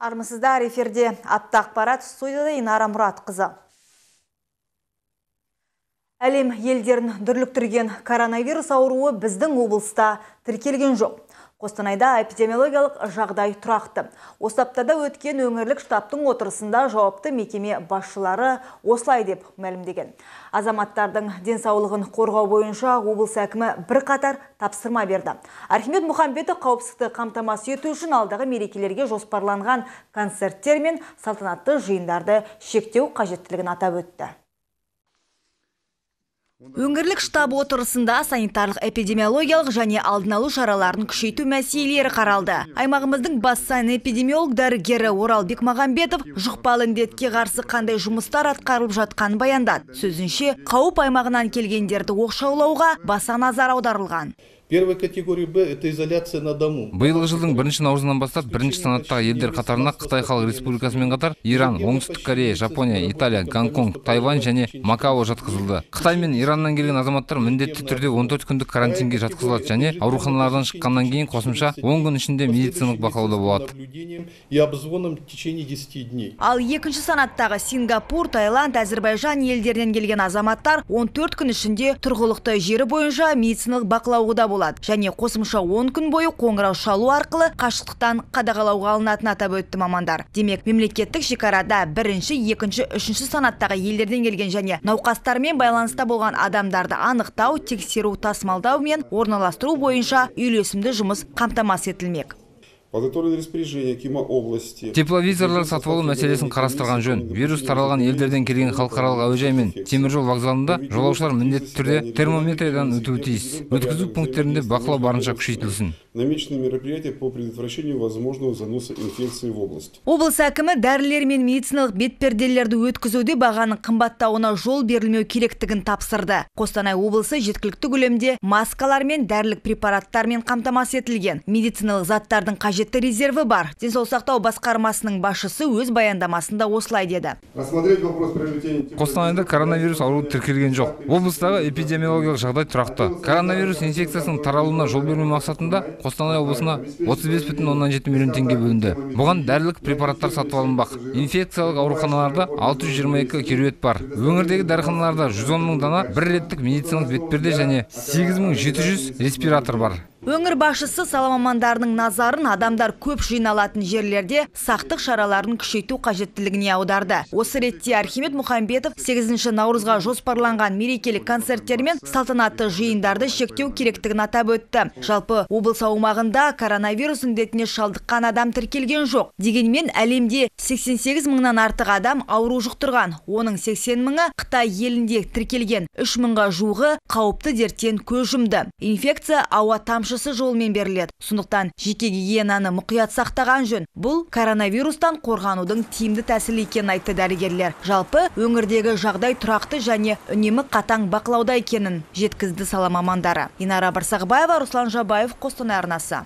Армысыздар, эфирде атты ақпарат, студияда Инара Мұратқызы. Әлем елдерін дүрліктірген коронавирус ауруы біздің облыста тіркелген жоқ. Қостанайда эпидемиологиялық жағдай тұрақты. Осы аптада өткен өңірлік штабтың отырысында жауапты мекеме басшылары осылай деп мәлімдеген. Азаматтардың денсаулығын қорғау бойынша облыс әкімі бірқатар тапсырма берді. Архимед Мұхамбетов қауіпсіздікті қамтамасыз ету үшін алдағы мерекелерге жоспарланған концерттер мен салтанатты жиындарды шектеу қажеттілігін атап өтті. Өңірлік штаб отырысында санитарлық эпидемиологиялық және алдын алу шараларын күшейту мәселелері қаралды. Аймағымыздың бас санэпидемиолог дәрігері Орал Бекмағамбетов жұқпалы індетке қарсы қандай жұмыстар атқарылып жатқанын баяндады. Сөзінше, қауіп аймағынан келгендерді оқшаулауға баса назар аударылған. Первая категория Б – это изоляция на дому. Биылғы жылдың 1 наурызынан бастап бірінші санаттағы елдер қатарына Қытай Халық Республикасымен қатар Иран, Оңтүстік Корея, Жапония, Италия, Гонконг, Тайвань және Макао жатқызылды. Қытай мен Ираннан келген азаматтар міндетті түрде 14 күндік карантинге жатқызылады және ауруханалардан шыққаннан кейін қосымша 10 күн ішінде медициналық бақылауда болады. Ал екінші санаттағы Сингапур, Таиланд, Әзірбайжан елдерінен келген азаматтар 14 күн ішінде тұрғылықты жері бойынша медициналық бақылауда болады. Және қосымша 10 күн бойы қоңырау шалу арқылы қашықтықтан қадағалауға алынатын атап өтті мамандар. Демек, мемлекеттік шекарада бірінші, екінші, үшінші санаттағы елдерден келген және науқастармен байланыста болған адамдарды анықтау, тексеру, тасымалдау мен орналастыру бойынша үйлесімді жұмыс қамтамасыз етілмек. Тепловизорлар сатып алу мәселесін қарастырған жөн. Вирус таралған елдерден келген халықаралық әуежай мен теміржол вокзалында жолаушылар міндетті түрде термометриядан өтуі тиіс. Өткізу пункттерінде бақылау барынша күшейтілсін. Облыс әкімі дәрілер мен медициналық бетперделерді өткізуде бағаның қымбаттауына жол берілмеу керектігін тапсырды. Қостанай облысы жеткілікті көлемде маскалар мен дәрілік препараттармен қамтамасыз етілген. Медициналық заттардың қажетті резерві бар. Денсаулық сақтау басқармасының басшысы өз баяндамасында осылай деді. Қостанайда коронавирус ауруы тіркелген жоқ. Облыстағы эпидемиологиялық жағдай тұрақты. Коронавирус инфекциясының таралуына жол бермеу мақсатында Қостанай облысына 35,7 миллион теңге бөлінді. Бұған дәрілік препараттар сатып алынбақ. Инфекциялық ауруханаларда 622 кереует бар. Өңірдегі дәріханаларда 110 мың дана бір реттік медициналық бетперде және 8700 респиратор бар. Өңір басшысы сала мамандарының назарын адамдар көп жиналатын жерлерде сақтық шараларын күшейту қажеттілігіне аударды. Осы ретте Архимед Мұхамбетов 8 наурызға жоспарланған мерекелік концерттер мен салтанатты жиындарды шектеу керектігін атап өтті. Жалпы облыс аумағында коронавирус індетіне шалдыққан адам тіркелген жоқ. Дегенмен әлемде 88 мыңнан артық адам ауру жұқтырған. Оның 80 мыңы Қытай елінде тіркелген. 3 мыңға жуығы қауіпті дерттен көз жұмды. Инфекция ауа тамшысы жолмен беріледі. Сондықтан жеке гигиенаны мұқият сақтаған жөн. Бұл коронавирустан қорғанудың тиімді тәсілі екенін айтты дәрігерлер. Жалпы өңірдегі жағдай тұрақты және үнемі қатаң бақылауда екенін жеткізді сала мамандары. Инара Барсағбаева, Руслан Жабаев, Қостанай арнасы.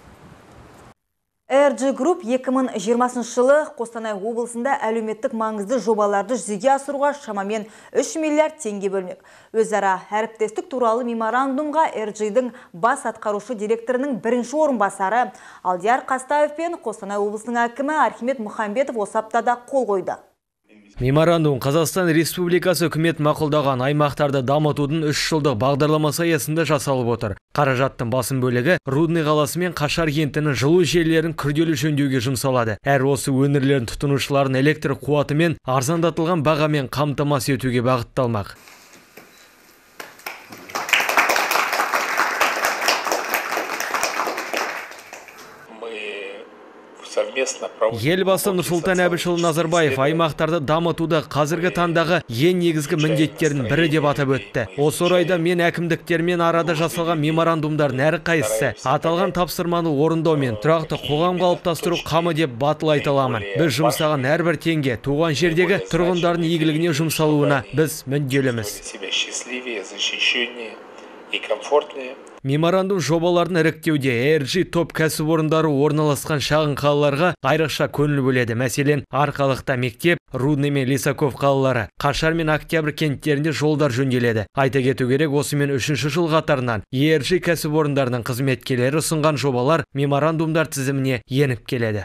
RG Group 2020 жылы Қостанай облысында әлеуметтік маңызды жобаларды жүзеге асыруға шамамен 3 миллиард теңге бөлмек. Өзара әріптестік туралы меморандумға RG-дің бас атқарушы директорының бірінші орынбасары Алдияр Қастаев пен Қостанай облысының әкімі Архимед Мұхамбетов осы аптада қол қойды. Меморандум Қазақстан Республикасы үкімет мақұлдаған аймақтарды дамытудың 3 жылдық бағдарламасы аясында жасалып отыр. Қаражаттың басым бөлігі Рудный қаласы мен Қашар кентінің жылу желілерін күрделі жөндеуге жұмсалады. Әр осы өңірлердің тұтынушыларын электр қуаты мен арзандатылған бағамен қамтамасыз етуге бағытталмақ. Елбасы Нұрсұлтан Әбішұлы Назарбаев аймақтарды дамытуды қазіргі таңдағы ең негізгі міндеттердің бірі деп атап өтті. Осы орайда мен әкімдіктермен арада жасалған меморандумдардың әрқайсысы аталған тапсырманы орындау мен тұрақты қоғам қалыптастыру қамы деп батыл айта аламын. Біз жұмсаған әрбір теңге туған жердегі тұрғындардың игілігіне жұмсалуына біз мүдделіміз. Меморандум жобаларын іріктеуде ERG топ кәсіпорындары орналасқан шағын қалаларға айрықша көңіл бөледі. Мәселен, Арқалықта мектеп, Рудный мен Лисаков қалалары, Қашар мен Октябрь кенттерінде жолдар жөнделеді. Айта кету керек, осымен 3-ші жыл қатарынан ERG кәсіпорындарының қызметкерлері ұсынған жобалар меморандумдар тізіміне еніп келеді.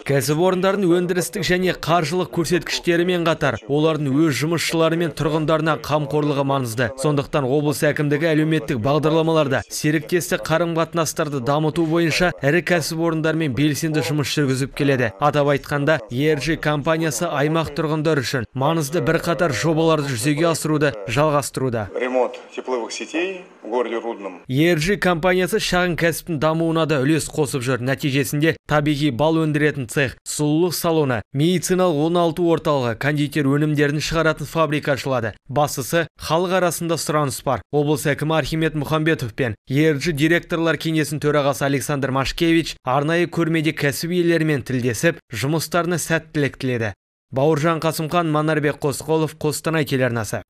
Кәсіпорындардың өндірістік және қаржылық көрсеткіштерімен қатар, олардың өз жұмысшылары мен тұрғындарына қамқорлығы маңызды. Сондықтан облыс әкімдігі әлеуметтік бағдарламаларда серіктестік қарым-қатынастарды дамыту бойынша ірі кәсіпорындармен белсенді жұмыс жүргізіп келеді. Атап айтқанда, ERG компаниясы аймақ тұрғындар үшін маңызды бірқатар жобаларды жүзеге асыруды жалғастыруда. Ремонт тепловых сетей в городе Рудном. ERG компаниясы шағын кәсіптің дамуына да үлес қосып жүр. Нәтижесінде табиғи бал өндіретін цех, сұлулық салоны, медициналық оңалту орталығы, кондитер өнімдерін шығаратын фабрика ашылады. Бастысы, халық арасында сұраныс бар. Облыс әкімі Архимед Мұхамбетов пен ERG директорлар кеңесінің төрағасы Александр Машкевич арнайы көрмеде кәсіп иелерімен тілдесіп, жұмыстарына сәттілік тіледі. Бауыржан Қасымхан, Манарбек Қосқолов, Қостанай телеарнасы.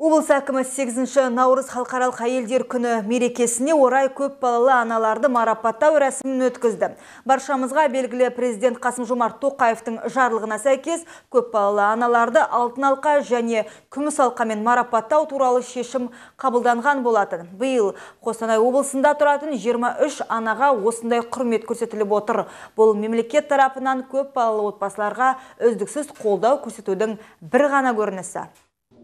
Облыс әкімі 8 наурыз халықаралық әйелдер күні мерекесіне орай көп балалы аналарды марапаттау рәсімін өткізді. Баршамызға белгілі президент Қасым-Жомарт Тоқаевтың жарлығына сәйкес көп балалы аналарды алтын алқа және күміс алқамен марапаттау туралы шешім қабылданған болатын. Биыл Қостанай облысында тұратын 23 анаға осындай құрмет көрсетіліп отыр. Бұл мемлекет тарапынан көп балалы отбасыларға үздіксіз қолдау көрсетудің бір ғана көрінісі.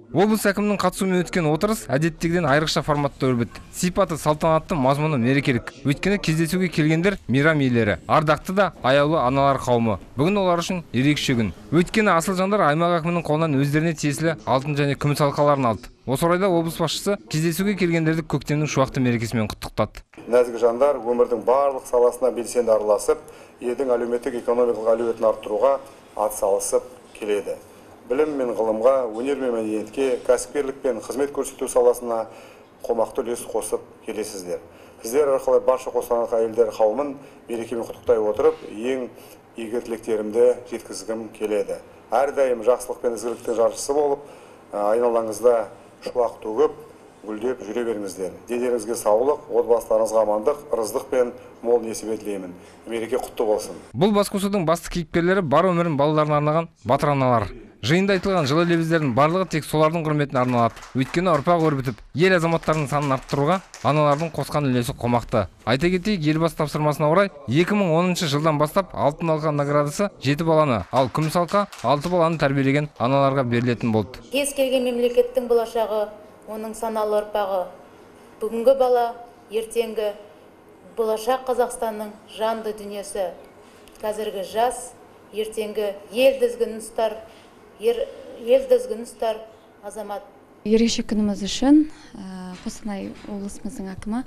Облыс әкімінің қатысуымен өткен отырыс әдеттегіден айрықша форматта өрбітті. Сипаты салтанатты, мазмұны мерекелік. Өйткені кездесуге келгендер мейрам иелері, ардақты да аяулы аналар қауымы. Бүгін олар үшін ерекше күн. Өйткені асыл жандар аймақ әкімінің қолынан өздеріне тиесілі алтын және күміс алқаларын алды. Осы орайда облыс басшысы кездесуге келгендерді көктемнің шуақты мерекесімен құттықтады. Нәзік жандар өмірдің барлық саласына белсенді араласып, елдің әлеуметтік экономикалық әлеуетін арттыруға атсалысып келеді. Білім мен ғылымға, өнер мен мәдениетке, кәсіпкерлік пен қызмет көрсету саласына қомақты үлес қосып келесіздер. Сіздер арқылы барша қостанайлық әйелдер қауымын мерекемен құттықтай отырып, ең игі тілектерімді жеткізгім келеді. Әрдайым жақсылық пен ізгіліктің жаршысы болып, айналаңызда шуақ төгіп, гүлдеп жүре беріңіздер. Денеріңізге саулық, отбасыларыңызға амандық, ырыздық пен мол несібе тілеймін. Мереке құтты болсын. Бұл басқосудың басты кейіпкерлері бар өмірін балаларына арнаған батыр аналар. Жиында айтылған жылы лебіздердің барлығы тек солардың құрметіне арналады. Өйткені ұрпақ өрбітіп, ел азаматтарының санын арттыруға аналардың қосқан үлесі қомақты. Айта кетейік, елбасы тапсырмасына орай 2010 жылдан бастап алтын алқа наградасы 7 баланы, ал күміс алқа 6 баланы тәрбиелеген аналарға берілетін болды. Кез келген мемлекеттің болашағы, оның саналы ұрпағы. Бүгінгі бала, ертеңгі болашақ Қазақстанның жанды дүниесі. Қазіргі жас, ертеңгі ел дізгін ұстар азамат. Ерекше күніміз үшін Қостанай облысымыздың әкімі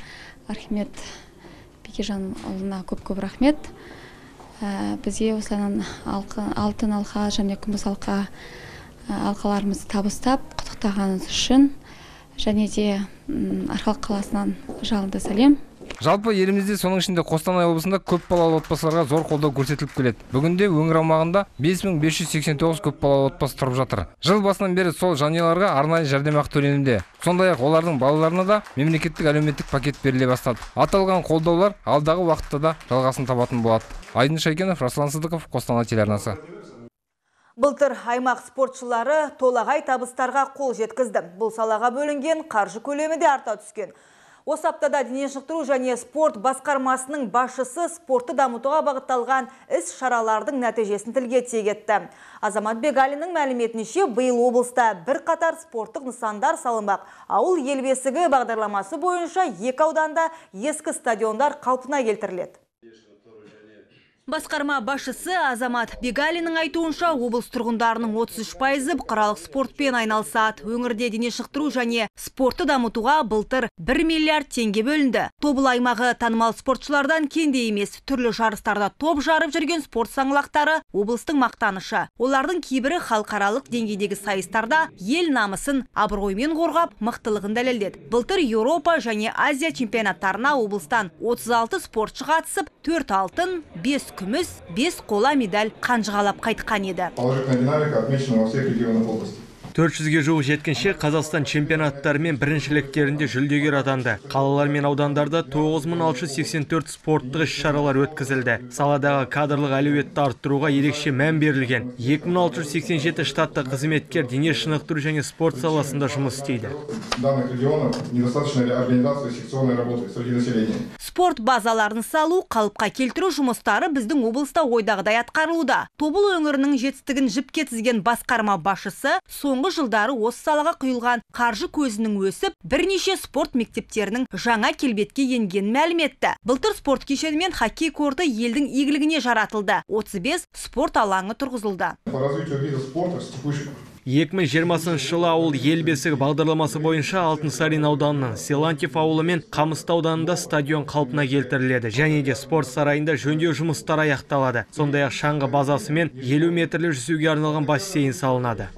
Архимед Бекежанұлына көп рахмет. Бізге осылайынан алтын алқа және күміс алқаларымызды табыстап құттықтағаныңыз үшін және де Арқалық қаласынан жалынды сәлем. Жалпы елімізде соның ішінде Қостанай облысында көп балалы отбасыларға зор қолдау көрсетіліп келеді. Бүгінде өңір аумағында 5589 көп балалы отбасы тұрып жатыр. Жыл басынан бері сол жанұяларға арнайы жәрдемақы төленуде. Сондай-ақ олардың балаларына да мемлекеттік әлеуметтік пакет беріле бастады. Аталған қолдаулар алдағы уақытта да жалғасын табатын болады. Айдын Шайкенов, Расылан Сыдықов, Қостанай телеарнасы. Былтыр аймақ спортшылары толағай табыстарға қол жеткізді. Бұл салаға бөлінген қаржы көлемі де арта түскен. Осы аптада дене шынықтыру және спорт басқармасының басшысы спортты дамытуға бағытталған іс шаралардың нәтижесін тілге тиек етті. Азамат Бегалиннің мәліметінше, биыл облыста бірқатар спорттық нысандар салынбақ. Ауыл ел бесігі бағдарламасы бойынша 2 ауданда ескі стадиондар қалпына келтіріледі. Басқарма басшысы Азамат Бегалиннің айтуынша, облыс тұрғындарының 33% бұқаралық спортпен айналысады. Өңірде дене шынықтыру және спортты дамытуға былтыр 1 миллиард теңге бөлінді. Тобыл аймағы танымал спортшылардан кенде емес, түрлі жарыстарда топ жарып жүрген спорт саңлақтары облыстың мақтанышы. Олардың кейбірі халықаралық деңгейдегі сайыстарда ел намысын абыроймен қорғап, мықтылығын дәлелдеді. Былтыр Еуропа және Азия чемпионаттарына облыстан 36 спортшы қатысып, 4 алтын, 5 күміс, 5 қола медаль қанжығалап қайтқан еді. Положительная динамика отмечена во всех регионах области. 400-ге жуық жеткіншек Қазақстан чемпионаттары мен біріншіліктерінде жүлдегер атанды. Қалалар мен аудандарда 9684 спорттық іс-шаралар өткізілді. Саладағы кадрлық әлеуетті арттыруға ерекше мән берілген. 2687 штатты қызметкер дене шынықтыру және спорт саласында жұмыс істейді. Спорт базаларын салу, қалыпқа келтіру жұмыстары біздің облыста ойдағыдай атқарылуда. Тобыл өңірінің жетістігін жіпке тізген басқарма басшысы соңғы жылдары осы салаға құйылған қаржы көзінің өсіп, бірнеше спорт мектептерінің жаңа келбетке енгенін мәлім етті. Былтыр спорт кешені мен хоккей корты елдің игілігіне жаратылды. 35 спорт алаңы тұрғызылды. 2020 жылы ауыл ел бесігі бағдарламасы бойынша Алтынсарин ауданының Силантьев ауылы мен Қамысты ауданында стадион қалпына келтіріледі. Және де спорт сарайында жөндеу жұмыстары аяқталады. Сондай-ақ шаңғы базасы мен 50 метрлі жүзуге арналған бассейн салынады.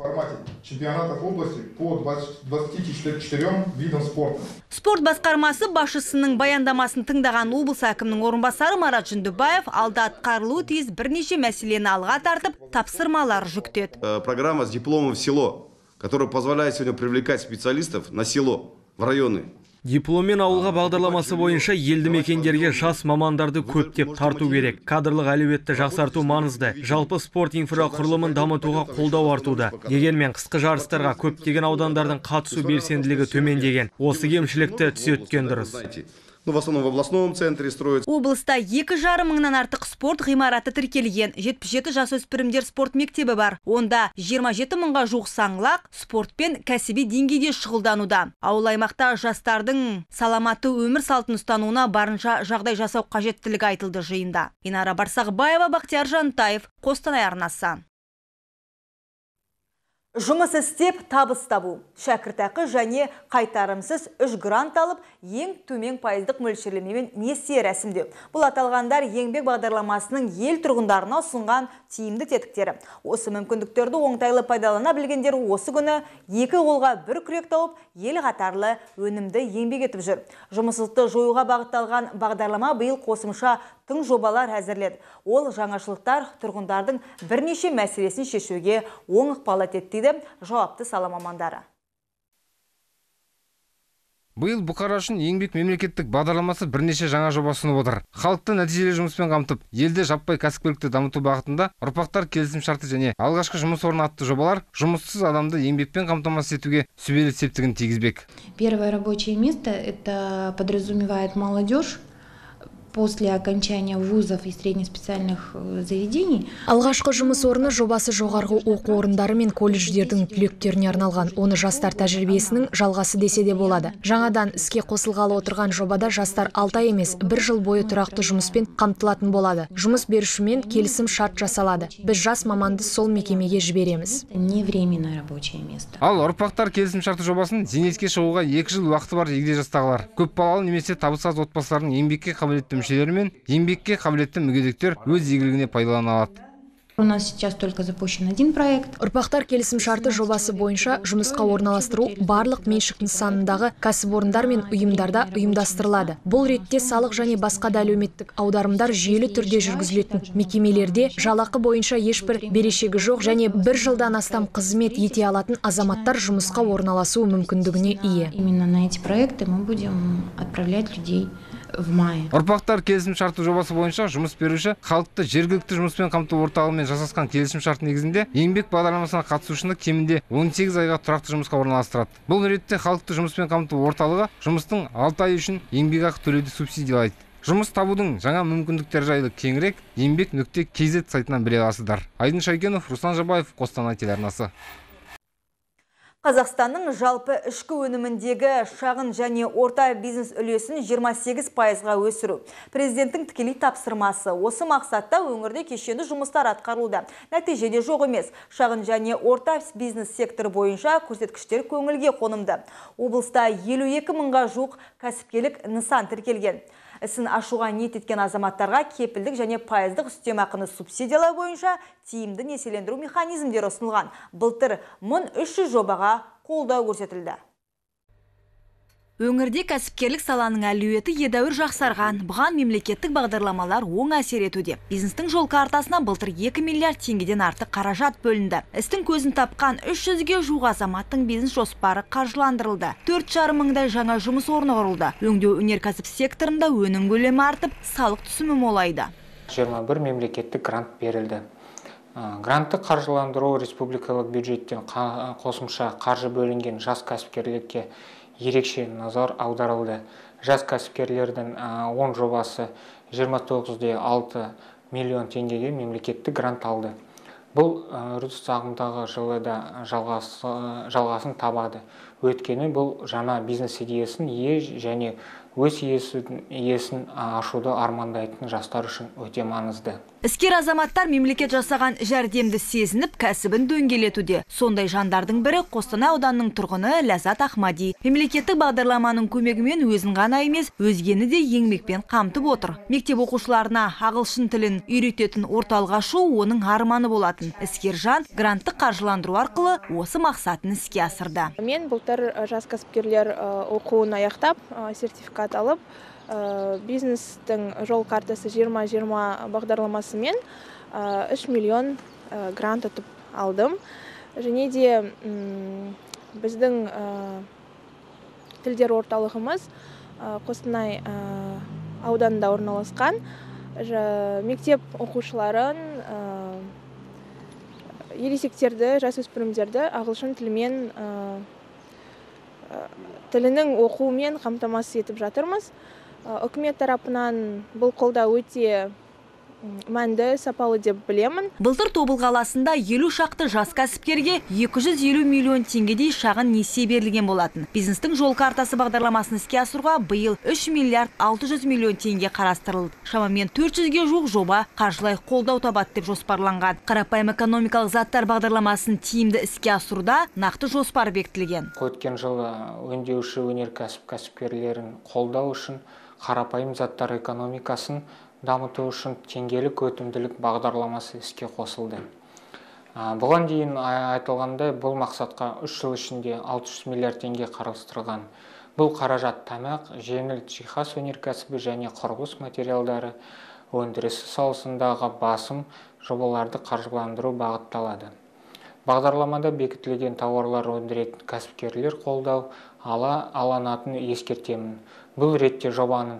Спорт басқармасы басшысының баяндамасын тыңдаған облыс әкімінің орынбасары Марат Жүндібаев алда атқарылуы тиіс бірнеше мәселені алға тартып, тапсырмалар жүктеді. Программа с дипломом в село, которая позволяет сегодня привлекать специалистов на село, в районы. Дипломмен ауылға бағдарламасы бойынша елді мекендерге жас мамандарды көптеп тарту керек. Кадрлық әлеуетті жақсарту маңызды. Жалпы спорт инфрақұрылымын дамытуға қолдау артуда. Дегенмен қысқы жарыстарға көптеген аудандардың қатысу белсенділігі төмендеген. Осы кемшілікті түзеткен дұрыс. В основном в областном центре строится. Облыста 2,5 мыңнан артық спорт ғимараты тіркелген. 77 жасөспірімдер спорт мектебі бар. Онда 27 мыңға жуық саңлақ спортпен кәсіби деңгейде шұғылдануда. Ауыл аймақта жастардың саламатты өмір салтын ұстануына барынша жағдай жасау қажеттілігі айтылды жиында. Инара Барсақбаева, Бақтияр Жантаев, Қостанай арнасы. Жұмыс істеп, табыс табу. Шәкіртақы және қайтарымсыз 3 грант алып, ең төмен пайыздық мөлшерлемемен несие рәсімдеу. Бұл аталғандар еңбек бағдарламасының ел тұрғындарына ұсынған тиімді тетіктері. Осы мүмкіндіктерді оңтайлы пайдалана білгендер осы күні 2 қолға 1 күрек тауып, ел қатарлы өнімді еңбек етіп жүр. Жұмыссыздықты жоюға бағытталған бағдарлама биыл қосымша тың жобалар әзірледі. Ол жаңашылықтар тұрғындардың бірнеше мәселесін шешуге оң ықпал етеді, жауапты сала мамандары. Биыл бұқара үшін еңбек мемлекеттік бағдарламасы бірнеше жаңа жоба ұсынып отыр. Халықты нәтижелі жұмыспен қамтып, елде жаппай кәсіпкерлікті дамыту бағытында ұрпақтар келісім шарты және алғашқы жұмыс орны атты жобалар жұмыссыз адамды еңбекпен қамтамасыз етуге сүбелі септігін тигізбек. Первое рабочее место это подразумевает молодежь. После окончания вузов и среднеспециальных заведений. Алғашқы жұмыс орны жобасы жоғарғы оқу орындары мен колледждердің түлектеріне арналған. Оны жастар тәжірибесінің жалғасы десе де болады. Жаңадан іске қосылғалы отырған жобада жастар 6 ай емес, 1 жыл бойы тұрақты жұмыспен қамтылатын болады. Жұмыс берушімен келісім шарт жасалады. Біз жас маманды сол мекемеге жібереміз. Не временное рабочее место. Ал ұрпақтар келісім шарты жобасын зейнетке шығуға 2 жыл уақыты бар егде жастағылар. Көп балалы немесе табысы аз отбасылардың еңбекке қабілетті мүшелері мен еңбекке қабілетті мүгедектер өз игілігіне пайдалана алады. У нас сейчас только запущен один проект. Ұрпақтар келісім шарты жобасы бойынша жұмысқа орналастыру барлық меншік нысанындағы кәсіпорындар мен ұйымдарда ұйымдастырылады. Бұл ретте салық және басқа да әлеуметтік аударымдар жүйелі түрде жүргізілетін мекемелерде жалақы бойынша ешбір берешегі жоқ және 1 жылдан астам қызмет ете алатын азаматтар жұмысқа орналасу мүмкіндігіне ие. Именно на эти проекты мы будем отправлять людей в мае. Ұрпақтар келісім шарты жобасы бойынша жұмыс беруші халықты жергілікті жұмыспен қамту орталығымен жасасқан келісім шарт негізінде еңбек бағдарламасына қатысушыны кемінде 18 айға тұрақты жұмысқа орналастырады. Бұл ретте халықты жұмыспен қамту орталығы жұмыстың 6 ай үшін еңбекақы төлеуді субсидиялайды. Жұмыс табудың жаңа мүмкіндіктері жайлы кеңірек еңбек.kz сайтынан біле аласыздар. Айдын Шайкенов, Руслан Жабаев, Қостанай телеарнасы. Қазақстанның жалпы ішкі өніміндегі шағын және орта бизнес үлесін 28%-ға өсіру. Президенттің тікелей тапсырмасы. Осы мақсатта өңірде кешенді жұмыстар атқарылуда. Нәтижеде жоқ емес. Шағын және орта бизнес секторы бойынша көрсеткіштер көңілге қонымды. Облыста 52 мыңға жуық кәсіпкерлік нысан тіркелген. Ісін ашуға ниет еткен азаматтарға кепілдік және пайыздық үстемақыны субсидиялау бойынша тиімді несиелендіру механизмдері ұсынылған. Былтыр 1300 жобаға қолдау көрсетілді. Өңірде кәсіпкерлік саланың әлеуеті едәуір жақсарған. Бұған мемлекеттік бағдарламалар оң әсер етуде. Бизнестің жол картасына былтыр 2 миллиард теңгеден артық қаражат бөлінді. Істің көзін тапқан 300-ге жуық азаматтың бизнес жоспары қаржыландырылды. 4,5 мыңдай жаңа жұмыс орны құрылды. Өңдеу өнеркәсіп секторында өнім көлемі артып, салық түсімі молайды. 21 мемлекеттік грант берілді. Грантты қаржыландыру республикалық бюджеттен қосымша қаржы бөлінген жас кәсіпкерлікке ерекше назар аударылды. Жас кәсіпкерлердің 10 жобасы 29,6 миллион теңгеге мемлекеттік грант алды. Бұл үрдіс ағымдағы жылы да жалғасын табады. Өйткені бұл жаңа бизнес идеясын және өз иесін ашуды армандайтын жастар үшін өте маңызды. Іскер азаматтар мемлекет жасаған жәрдемді сезініп, кәсібін дөңгелетуде. Сондай жандардың бірі Қостанай ауданының тұрғыны Ләззат Ахмади. Мемлекеттік бағдарламаның көмегімен өзін ғана емес, өзгені де еңбекпен қамтып отыр. Мектеп оқушыларына ағылшын тілін үйрететін орталық ашу оның арманы болатын. Іскер жан гранттық қаржыландыру арқылы осы мақсатын іске асырды. Мен былтыр жас кәсіпкерлер оқуын аяқтап, сертификат алып, бизнестің жол картасы 2020 бағдарламасымен 3 миллион грант ұтып алдым. Және де біздің тілдер орталығымыз Қостанай ауданында орналасқан. Мектеп оқушыларын, ересектерді, жасөспірімдерді ағылшын тілінің оқуымен қамтамасыз етіп жатырмыз. Үкімет тарапынан бұл қолдау өте мәнді, сапалы деп білемін. Былтыр Тобыл қаласында 50 шақты жас кәсіпкерге 250 миллион теңгедей шағын несие берілген болатын. Бизнестің жол картасы бағдарламасын іске асыруға биыл 3 миллиард 600 миллион теңге қарастырылды. Шамамен 400-ге жуық жоба қаржылай қолдау табады деп жоспарланған. Қарапайым экономикалық заттар бағдарламасын тиімді іске асыруда нақты жоспар бекітілген. Өткен жылы өңдеуші өнеркәсіп кәсіпкерлерін қолдау үшін қарапайым заттар экономикасын дамыту үшін теңгелік өтімділік бағдарламасы іске қосылды. Бұған дейін айтылғандай, бұл мақсатқа 3 жыл ішінде 600 миллиард теңге қарастырылған. Бұл қаражат тамақ, жеңіл жиһаз өнеркәсібі және құрылыс материалдары өндірісі саласындағы басым жобаларды қаржыландыру бағытталады. Бағдарламада бекітілген тауарлар өндіретін кәсіпкерлер қолдау алынатынын ескертемін. Бұл ретте жобаның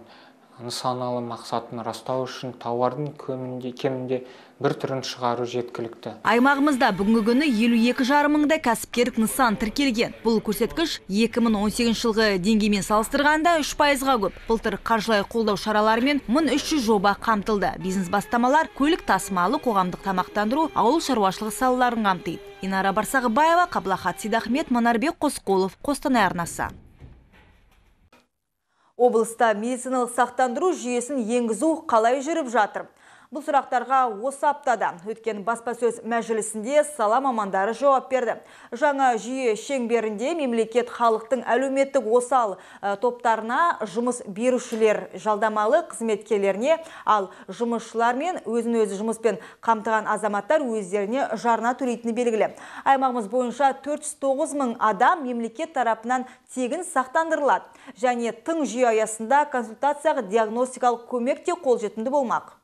нысаналы мақсатын растау үшін тауардың кемінде бір түрін шығару жеткілікті. Аймағымызда бүгінгі күні 52,5 мыңдай кәсіпкерлік нысан тіркелген. Бұл көрсеткіш 2018 жылғы деңгеймен салыстырғанда 3%-ға көп. Былтыр қаржылай қолдау шараларымен 1300 жоба қамтылды. Бизнес бастамалар көлік тасымалы, қоғамдық тамақтандыру, ауыл шаруашылығы салаларын қамтиды. Инара Барсағыбаева, Қаблахат Сейдахмет, Манарбек Қосқолов, Қостанай арнасы. Облыста медициналық сақтандыру жүйесін енгізу қалай жүріп жатыр? Бұл сұрақтарға осы аптада өткен баспасөз мәжілісінде сала мамандары жауап берді. Жаңа жүйе шеңберінде мемлекет халықтың әлеуметтік осал топтарына жұмыс берушілер жалдамалы қызметкерлеріне, ал жұмысшылар мен өзін-өзі жұмыспен қамтыған азаматтар өздеріне жарна төлейтіні белгілі. Аймағымыз бойынша 409 мың адам мемлекет тарапынан тегін сақтандырылады. Және тың жүйе аясында консультацияға диагностикалық көмек те қолжетімді болмақ.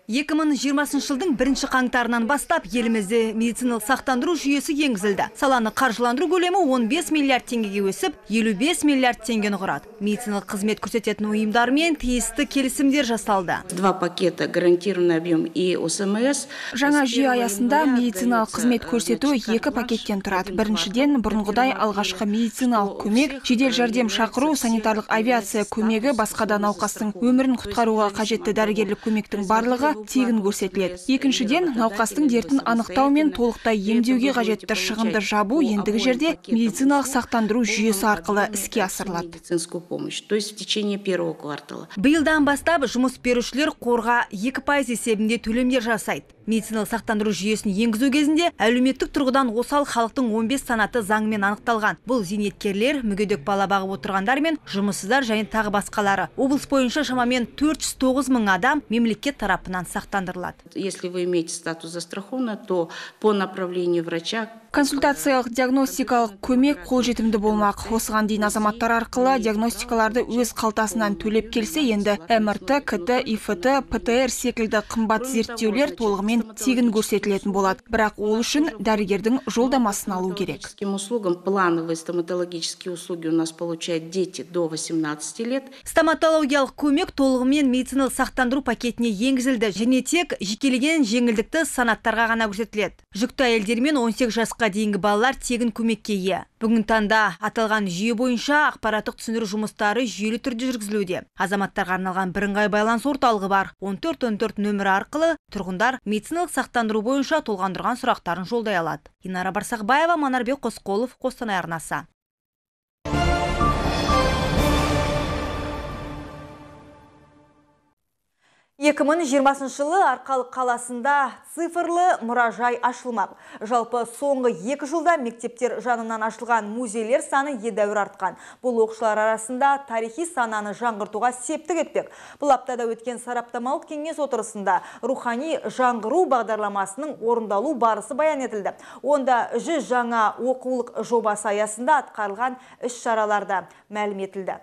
2020 жылдың 1 қаңтарынан бастап елімізде медициналық сақтандыру жүйесі енгізілді. Саланы қаржыландыру көлемі 15 миллиард теңгеге өсіп, 55 миллиард теңгені құрады. Медициналық қызмет көрсететін ұйымдармен тиісті келісімдер жасалды. 2 пакета гарантированный объем и ОСМС. Жаңа жүйе аясында медициналық қызмет көрсету 2 пакеттен тұрады. Біріншіден, бұрынғыдай алғашқы медициналық көмек, жедел жәрдем шақыру, санитарлық авиация көмегі, басқа да науқастың өмірін құтқаруға қажетті дәрігерлік көмектің барлығы тегін көрсетіледі. Екіншіден, науқастың дертін анықтау мен толықтай емдеуге қажетті шығынды жабу ендігі жерде медициналық сақтандыру жүйесі арқылы іске асырылады. То есть в течение 1 квартала. Биылдан бастап жұмыс берушілер қорға 2% есебінде төлемдер жасайды. Медициналық сақтандыру жүйесін енгізу кезінде әлеуметтік тұрғыдан осал халықтың 15 санаты заңмен анықталған. Бұл зейнеткерлер, мүгедек бала бағып отырғандар мен жұмыссыздар және тағы басқалары. Облыс бойынша шамамен 409 мың адам мемлекет тарапынан сақтандырылады. Если вы имеете статус застрахованы, то по направлению врача Консультациялық диагностикалық көмек қолжетімді болмақ. Осыған дейін азаматтар арқылы диагностикаларды өз қалтасынан төлеп келсе, енді МРТ, КТ, ИФТ, ПТР секілді қымбат зерттеулер толығымен тегін көрсетілетін болады. Бірақ ол үшін дәрігердің жолдамасын алу керек. Плановые стоматологические услуги у нас получают дети до 18 лет. Стоматологиялық көмек толығымен медициналық сақтандыру пакетіне енгізілді, және тек жекелеген жеңілдікті санаттарға ғана көрсетіледі. Жүкті әйелдер мен 18 жасқа дейінгі балалар тегін көмекке ие. Бүгін таңда аталған жүйе бойынша ақпараттық түсіндіру жұмыстары жүйелі түрде жүргізілуде. Азаматтарға арналған бірыңғай байланыс орталығы бар. 1414 нөмірі арқылы тұрғындар медициналық сақтандыру бойынша толғандырған сұрақтарын жолдай алады. Инара Барсақбаева, Манарбек Қосқолов, Қостанай арнасы. Екімін 20 жылы Арқалық қаласында цифрлы мұражай ашылмақ. Жалпы соңғы 2 жылда мектептер жанынан ашылған музейлер саны едәуір артқан. Бұл оқушылар арасында тарихи сананы жаңғыртуға септік етпек. Бұл аптада өткен сараптамалық кеңес отырысында рухани жаңғыру бағдарламасының орындалу барысы баян етілді. Онда 100 жаңа оқулық жобасы аясында атқарылған іс-шараларда мәлім етілді.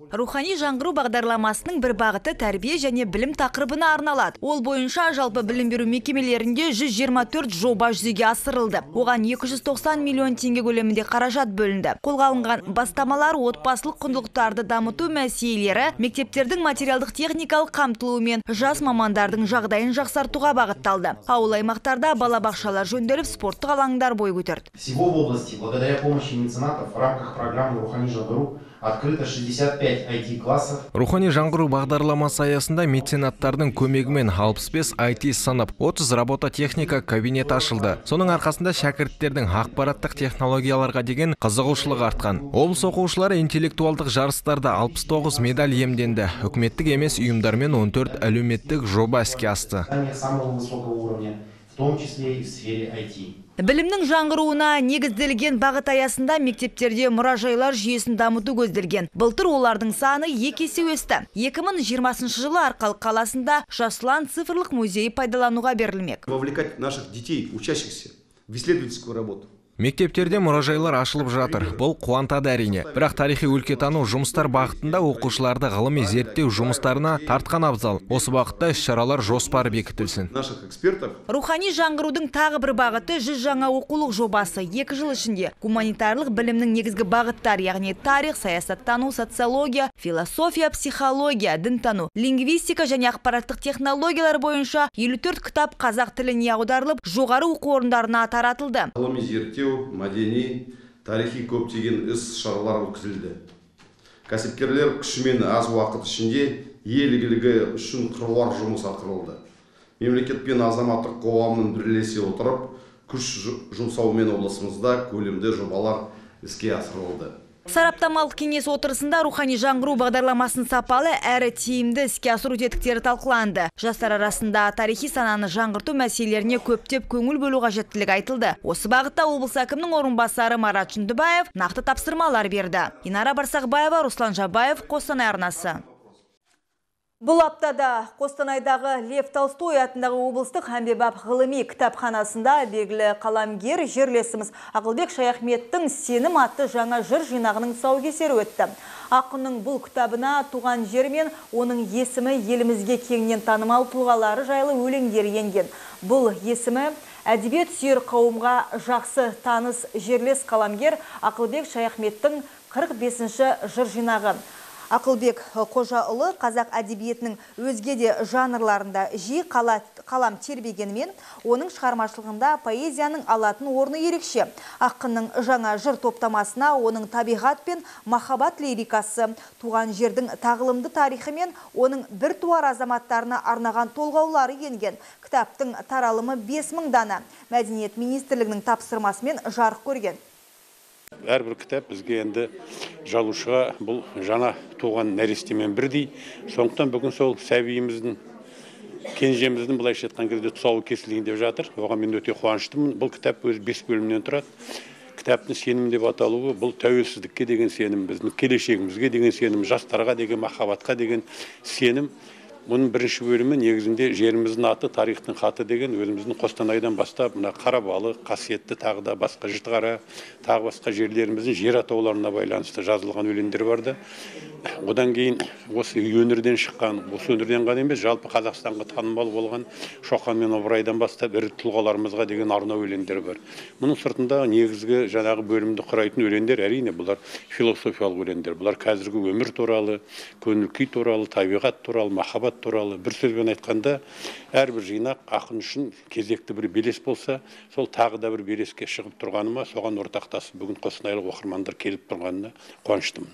Рухани жаңғыру бағдарламасының бір бағыты тәрбие және білім тақырыбына арналады. Ол бойынша жалпы білім беру мекемелерінде 124 жоба жүзеге асырылды. Оған 290 миллион теңге көлемінде қаражат бөлінді. Қолға алынған бастамалар отбасылық құндылықтарды дамыту мәселелері, мектептердің материалдық техникалық қамтылуы мен жас мамандардың жағдайын жақсартуға бағытталды. Ауыл аймақтарда балабақшалар жөнделіп, спорттық алаңдар бой көтерді. Всего в области, благодаря помощи меценатов, в рамках программы «Рухани жаңғыру» открыто 65 IT-классов. Рухани жаңғыру бағдарламасы аясында меценаттардың көмегімен 65 IT сынып, 30 робототехника кабинет ашылды. Соның арқасында шәкірттердің ақпараттық технологияларға деген қызығушылығы артқан. Облыс оқушылары интеллектуалдық жарыстарда 69 медаль иемденді. Үкіметтік емес ұйымдармен 14 әлеуметтік жоба іске асты. Самого высокого уровня, в том числе и в сфере IT. Білімнің жаңғыруына негізделген бағыт аясында мектептерде мұражайлар жүйесін дамыту көзделген. Былтыр олардың саны 2 есе өсті. 2020 жылы Арқалық қаласында Жасұлан цифрлық музейі пайдалануға берілмек. Вовлекать наших детей, учащихся, в исследовательскую работу. Мектептерде мұражайлар ашылып жатыр. Бұл қуантады әрине. Бірақ тарихи өлкетану жұмыстар бағытында оқушыларды ғылыми зерттеу жұмыстарына тартқан абзал. Осы бағытта іс-шаралар жоспары бекітілсін. Наших экспертов. Рухани жаңғырудың тағы бір бағыты 100 жаңа оқулық жобасы. 2 жыл ішінде гуманитарлық білімнің негізгі бағыттары, яғни тарих, саясаттану, социология, философия, психология, дінтану, лингвистика және ақпараттық технологиялар бойынша 54 кітап қазақ тіліне аударылып, жоғары оқу орындарына таратылды. Ғылыми зерттеу, мәдени, тарихи көптеген іс-шаралар өткізілді. Кәсіпкерлер күшімен аз уақыт ішінде ел игілігі үшін қыруар жұмыс атқарылды. Мемлекет пен азаматтық қоғамның бірлесе отырып, күш жұмсаумен облысымызда көлемді жобалар іске асырылды. Сараптамалық кеңес отырысында рухани жаңғыру бағдарламасын сапалы әрі тиімді іске асыру тетіктері талқыланды. Жастар арасында тарихи сананы жаңғырту мәселелеріне көптеп көңіл бөлу қажеттілігі айтылды. Осы бағытта облыс әкімінің орынбасары Марат Шындыбаев нақты тапсырмалар берді. Инара Барсақбаева, Руслан Жабаев, Қостанай арнасы. Бұл аптада Қостанайдағы Лев Толстой атындағы облыстық әмбебап ғылыми кітапханасында белгілі қаламгер жерлесіміз Ақылбек Шаяхметтің «Сенім» атты жаңа жыр жинағының тұсаукесері өтті. Ақынның бұл кітабына туған жер мен оның есімі елімізге кеңінен танымал тұлғалары жайлы өлеңдер енген. Бұл есімі әдебиет сүйер қауымға жақсы таныс жерлес қаламгер Ақылбек Шаяхметтің 45-ші жыр жинағы. Ақылбек Қожаұлы қазақ әдебиетінің өзге де жанрларында жиі қалам тербегенімен, оның шығармашылығында поэзияның алатын орны ерекше. Ақынның жаңа жыр топтамасына оның табиғат пен махаббат лирикасы, туған жердің тағылымды тарихы мен оның бір туар азаматтарына арнаған толғаулары енген. Кітаптың таралымы 5000 дана. Мәдениет министрлігінің тапсырмасымен жарық көрген. Әрбір кітап бізге енді жазушыға бұл жаңа туған нәрестемен бірдей. Сондықтан бүгін сол сәбиіміздің, кенжеміздің былайша айтқан кезде тұсауы кесілген деп жатыр. Оған мен өте қуаныштымын. Бұл кітап өзі 5 бөлімнен тұрады. Кітаптың сенім деп аталуы бұл тәуелсіздікке деген сенім, біздің келешегімізге деген сенім, жастарға деген махаббатқа деген сенім. Бұның бірінші бөлімі негізінде жеріміздің аты, тарихтың хаты деген өзіміздің Қостанайдан бастап, мына Қарабалық, Қасиетті, тағы да басқа Жітіқара, тағы басқа жерлеріміздің жер атауларына байланысты жазылған өлеңдер барды. Одан кейін осы өңірден шыққан, осы өңірден ғана емес, жалпы Қазақстанға танымал болған Шоқан мен Ыбырайдан бастап ірі тұлғаларымызға деген арнау өлеңдер бар. Мұның сыртында негізгі жаңағы бөлімді құрайтын өлеңдер әрине бұлар философиялық өлеңдер. Бұлар қазіргі өмір туралы, көңіл күй туралы, табиғат туралы, махаббат туралы. Бір сөзбен айтқанда, әрбір жинақ ақын үшін кезекті бір белес болса, сол тағы да бір белеске шығып тұрғаныма, соған ортақтасып бүгін қостанайлық оқырмандар келіп тұрғанына қуаныштымын.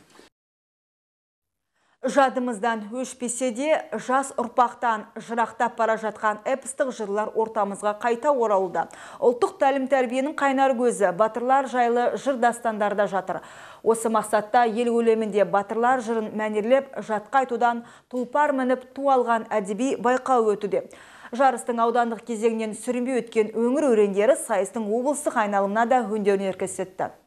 Жадымыздан өшпесе де, жас ұрпақтан жырақтап бара жатқан эпостық жырлар ортамызға қайта оралуда. Ұлттық тәлім-тәрбиенің қайнар көзі батырлар жайлы жыр дастандарда жатыр. Осы мақсатта ел көлемінде батырлар жырын мәнерлеп жатқа айтудан тұлпар мініп ту алған әдеби байқау өтуде. Жарыстың аудандық кезеңнен сүрінбей өткен өңір өрендері сайыстың облыстық айналымына да өндеуін көрсетті.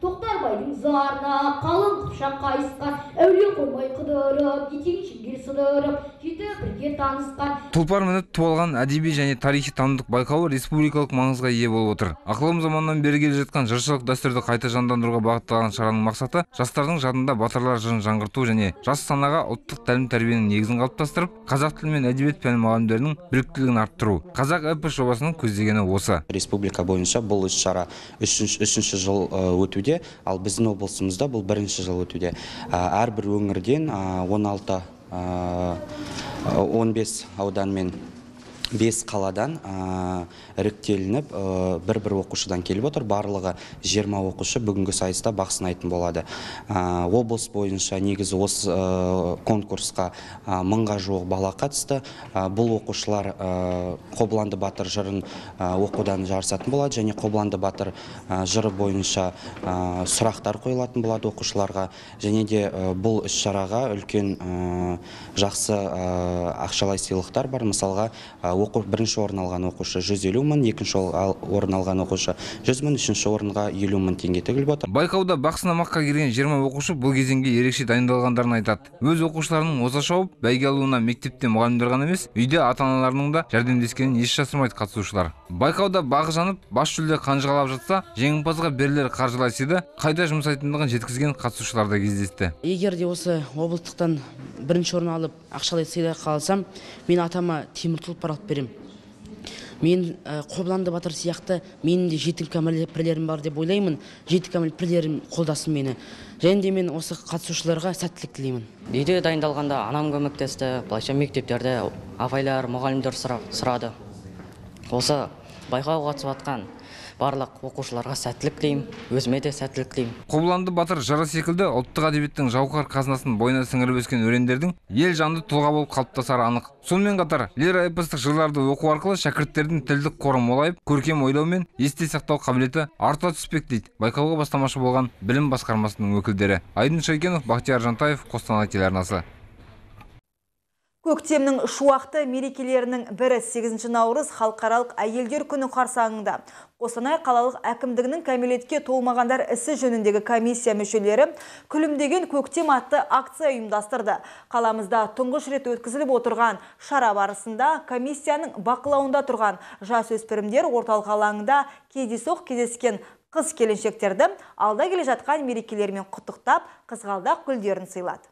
Тоқтарбайдың зарына қалың қыпшақ қайысқан, әулие қоймай қыдырып, етен шеңгел сыдырып, жеті бірге танысқан. Тұлпар мініп ту алған әдеби және тарихи танымдық байқауы республикалық маңызға ие болып отыр. Ақылым заманнан бері келе жатқан жыршылық дәстүрді қайта жандандыруға бағытталған шараның мақсаты жастардың жадында батырлар жырын жаңғырту және жас санаға ұлттық тәлім-тәрбиенің негізін қалыптастырып, қазақ тілі мен әдебиет пәні мұғалімдерінің біліктілігін арттыру. Қазақ эпос жобасының көздегені осы. Республика бойынша бұл іс-шара үшінші жыл өтуде. Ал біздің облысымызда бұл бірінші жыл өтуде. Әрбір өңірден 15 аудан мен 5 қаладан іріктелініп, бір оқушыдан келіп отыр. Барлығы 20 оқушы бүгінгі сайыста бақ сынайтын болады. Облыс бойынша негізі осы конкурсқа 1000-ға жуық бала қатысты. Бұл оқушылар Қобыланды батыр жырын оқудан жарысатын болады, және Қобыланды батыр жыры бойынша сұрақтар қойылатын болады оқушыларға. Және де бұл іс-шараға үлкен жақсы ақшалай сыйлықтар бар. Мысалға, бірінші орын алған оқушы 150 мың, екінші орын алған оқушы 100 мың, үшінші орынға 50 мың теңге тігіліп отыр. Байқауда бақ сынамаққа келген 20 оқушы бұл кезеңге ерекше дайындалғандарын айтады. Өз оқушыларының оза шауып, бәйге алуына мектепте мұғалімдер ғана емес, үйде ата-аналарының да жәрдемдескенін еш жасырмайды қатысушылар. Байқауда бағы жанып, бас жүлде қанжығалап жатса, жеңімпазға берілер қаржылай сыйды қайда жұмсайтындығын жеткізген қатысушылар да кездесті. Егер де осы облыстықтан бірінші орын алып, ақшалай сыйда қалсам, мен атама темір тұлпар алып берем. Мен Қобыланды батыр сияқты менің де жеті кәміл пірлерім бар деп ойлаймын. Жеті кәміл пірлерім қолдасын мені. Және де мен осы қатысушыларға сәттілік тілеймін. Үйде дайындалғанда анам көмектесті, былайша мектептерде апайлар, мұғалімдер сұрады. Осы байқауға қатысып жатқан барлық оқушыларға сәттілік тілеймін, өзіме де сәттілік тілеймін. Қобыланды батыр жыры секілді ұлттық әдебиеттің жауһар қазынасын бойына сіңіріп өскен өрендердің ел жанды тұлға болып қалыптасары анық. Сонымен қатар лира эпостық жырларды оқу арқылы шәкірттердің тілдік қоры молайып, көркем ойлау мен есте сақтау қабілеті арта түспек дейді байқауға бастамашы болған білім басқармасының өкілдері. Айдын Шайкенов, Бақтияр Жантаев, Қостанай телеарнасы. Көктемнің шуақты мерекелерінің бірі 8 наурыз халықаралық әйелдер күні қарсаңында Қостанай қалалық әкімдігінің кәмелетке толмағандар ісі жөніндегі комиссия мүшелері күлімдеген көктем атты акция ұйымдастырды. Қаламызда тұңғыш рет өткізіліп отырған шара барысында комиссияның бақылауында тұрған жасөспірімдер орталық алаңында кездейсоқ кездескен қыз келіншектерді алда келе жатқан мерекелермен құттықтап, қызғалдақ гүлдерін сыйлады.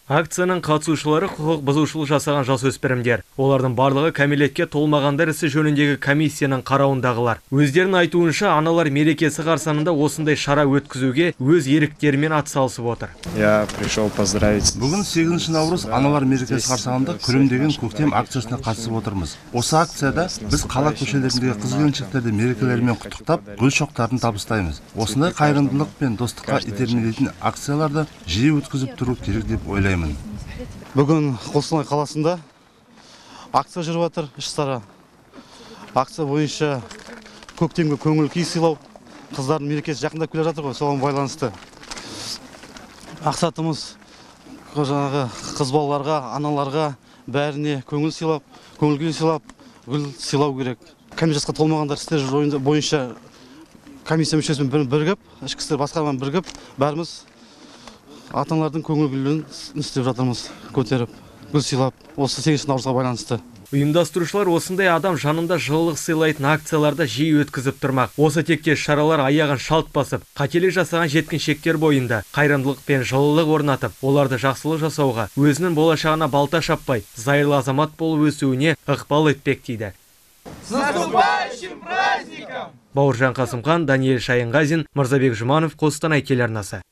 Акцияның қатысушылары құқық бұзушылық жасаған жасөспірімдер. Олардың барлығы кәмелетке толмағандар ісі жөніндегі комиссияның қарауындағылар. Өздерінің айтуынша, аналар мерекесі қарсаңында осындай шара өткізуге өз еріктерімен атсалысып отыр. Я пришел поздравить. Бүгін 8 наурыз аналар мерекесі қарсаңында күлімдеген көктем акциясына қатысып отырмыз. Осы акцияда біз қала көшелеріндегі қыз-келіншектерді мерекелерімен құттықтап, гүл шоқтарын табыстаймыз. Осындай қайырымдылық пен достыққа итермелейтін акцияларды жиі өткізіп тұру керек деп ойлаймын. Бүгін Қостанай қаласында акция жүріп жатыр, іс-шара. Акция бойынша көктемге көңіл күй сыйлау, қыздардың мерекесі жақындап келе жатыр ғой, соған байланысты. Мақсатымыз жаңағы қыз балаларға, аналарға бәріне көңіл күй сыйлап, гүл сыйлау керек. Кәмелетке толмағандар істері бойынша комиссия мүшесімен бірігіп, ішкі істер басқармамен бірігіп, бәріміз ата-аналардың көңіл күйлерін істеп жатырмыз, көтеріп. гүл сыйлап, осы 8 наурызға байланысты. Ұйымдастырушылар осындай адам жанында жылылық сыйлайтын акцияларды жиі өткізіп тұрмақ. Осы тектес шаралар аяғын шалт басып, қателік жасаған жеткіншектер бойында қайырымдылық пен жылылық орнатып, оларды жақсылық жасауға, өзінің болашағына балта шаппай, зайырлы азамат болып өсуіне ықпал етпек дейді. С наступающим праздником! Бауыржан Қасымхан, Даниэль Шайынғазин, Мырзабек Жұманов, Қостанай телеарнасы.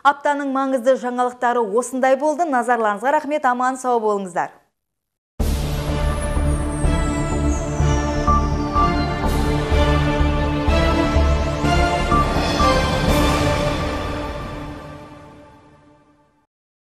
Аптаның маңызды жаңалықтары осындай болды. Назарларыңызға рахмет, аман сау болыңыздар.